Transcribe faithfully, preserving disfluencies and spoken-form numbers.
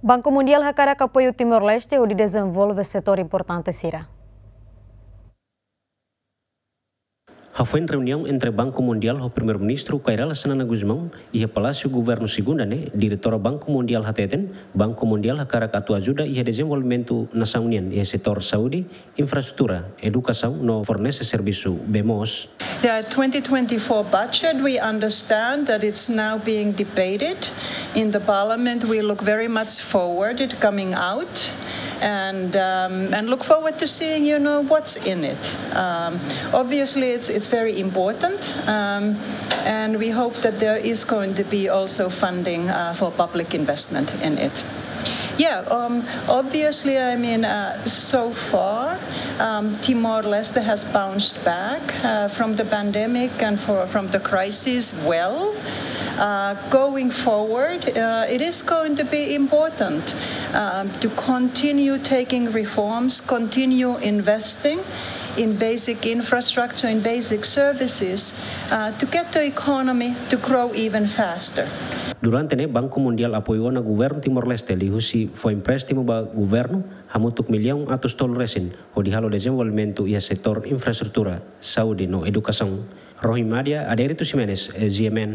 Banku Mundiál hakarak apoiu Timor-Leste hodi dezenvolve setór importante sira. Hafoin reuniaun entre Banku Mundiál ho Primeiru-Ministru Kay Rala Xanana Gusmão iha Palásiu Governu Segunda ne'e, Diretora Banku Mundiál hateten, Banku Mundiál hakarak atu ajuda iha dezenvolvimentu nasaun nian iha setór saúde, infraestrutura, edukasaun no fornese servisu bee moos. Yeah, twenty twenty-four budget, we understand that it's now being debated in the parliament. We look very much forward it coming out and, um, and look forward to seeing, you know, what's in it. Um, obviously, it's, it's very important, um, and we hope that there is going to be also funding, uh, for public investment in it. Yeah, um, obviously, I mean, uh, so far, um, Timor-Leste has bounced back, uh, from the pandemic and for, from the crisis well. Uh, going forward, uh, it is going to be important, um, to continue taking reforms, continue investing in basic infrastructure, in basic services, uh, to get the economy to grow even faster. Durante ne'e, Banku Mundiál apoiu ona Governu Timor-Leste liuhusi fó empréstimu ba governu hamutuk millaun atus tolu resin, hodi halo dezenvolvimentu iha setór infraestrutura, saúde no edukasaun. Rohi Madia, Adérito Ximenes, G M N.